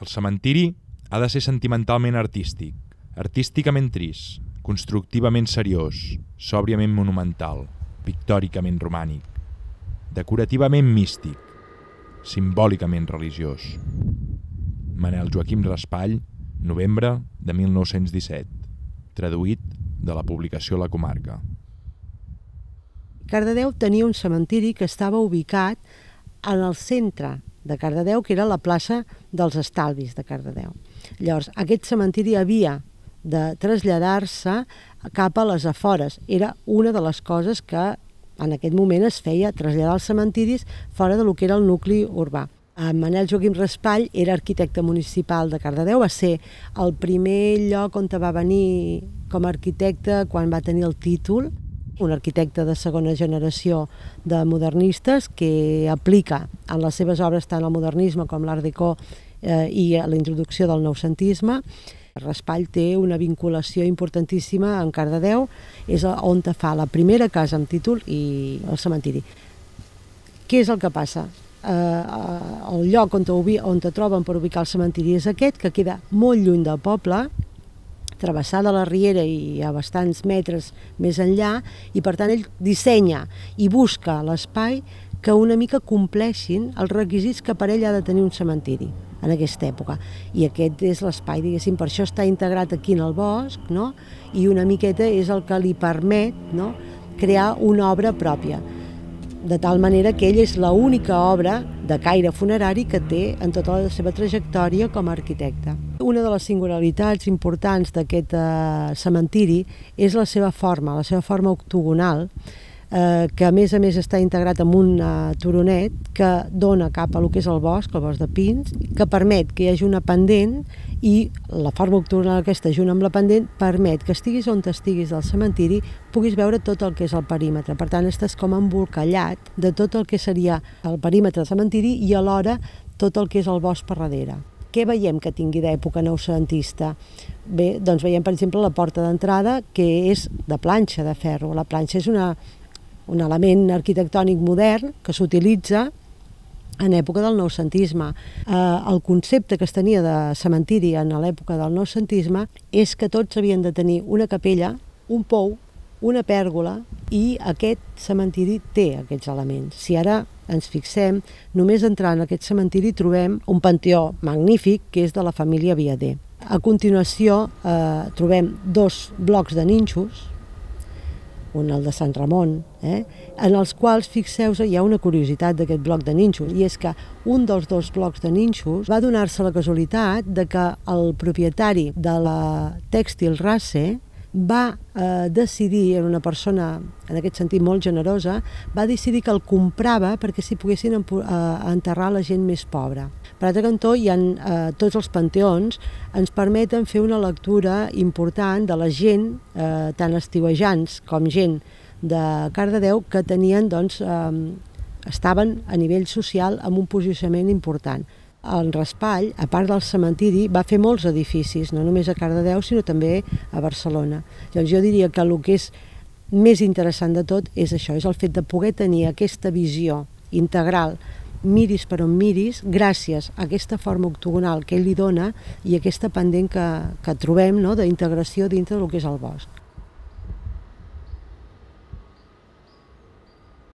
El cementiri ha de ser sentimentalment artístic, artísticament trist, constructivament seriós, sòbriament monumental, pictòricament romànic, decorativament místic, simbòlicament religiós. Manel Joaquim Raspall, novembre de 1917, traduït de la publicació La Comarca. Cardedeu tenia un cementiri que estava ubicat en el centre de Cardedeu, que era la plaça dels Estalvis de Cardedeu. Llavors, aquest cementiri havia de traslladar-se cap a les afores. Era una de les coses que en aquest moment es feia, traslladar els cementiris fora del que era el nucli urbà. Manel Joaquim Raspall era arquitecte municipal de Cardedeu, va ser el primer lloc on va venir com a arquitecte quan va tenir el títol, un arquitecte de segona generació de modernistes que aplica en les seves obres tant el modernisme com l'art déco i la introducció del noucentisme. Raspall té una vinculació importantíssima en Cardedeu, és on fa la primera casa amb títol i el cementiri. Què és el que passa? El lloc on te troben per ubicar el cementiri és aquest, que queda molt lluny del poble, travessada la riera i a bastants metres més enllà, i per tant ell dissenya i busca l'espai que una mica compleixin els requisits que per ell ha de tenir un cementiri en aquesta època. I aquest és l'espai, diguéssim, per això està integrat aquí en el bosc, no? I una miqueta és el que li permet, no?, crear una obra pròpia. De tal manera que ell és l'única obra de caire funerari que té en tota la seva trajectòria com a arquitecte. Una de les singularitats importants d'aquest cementiri és la seva forma octogonal, que a més està integrat amb un turonet que dona cap a lo que és el bosc de pins, que permet que hi hagi una pendent, i la forma octogonal aquesta junt amb la pendent permet que estiguis on estiguis del cementiri puguis veure tot el que és el perímetre. Per tant, estàs com embolcallat de tot el que seria el perímetre del cementiri i alhora tot el que és el bosc per darrere. Què veiem que tingui d'època noucentista? Bé, doncs veiem, per exemple, la porta d'entrada, que és de planxa de ferro. La planxa és un element arquitectònic modern que s'utilitza en època del noucentisme. El concepte que es tenia de cementiri en l'època del noucentisme és que tots havien de tenir una capella, un pou, una pèrgola, i aquest cementiri té aquests elements. Si ara ens fixem, només entrant en aquest cementiri trobem un panteó magnífic que és de la família Viader. A continuació trobem dos blocs de nínxols, un el de Sant Ramon, en els quals, fixeu-vos, hi ha una curiositat d'aquest bloc de nínxols, i és que un dels dos blocs de nínxols va donar-se la casualitat de que el propietari de la Tèxtil Race va decidir, era una persona en aquest sentit molt generosa, va decidir que el comprava perquè s'hi poguessin enterrar la gent més pobra. Per altre cantó, tots els panteons ens permeten fer una lectura important de la gent, tant estiuejants com gent de Cardedeu, que tenien, estaven a nivell social amb un posicionament important. En Raspall, a part del cementiri, va fer molts edificis, no només a Cardedeu, sinó també a Barcelona. Llavors jo diria que el que és més interessant de tot és això, és el fet de poder tenir aquesta visió integral, miris per on miris, gràcies a aquesta forma octogonal que ell li dona i aquesta pendent que trobem d'integració dintre del que és el bosc.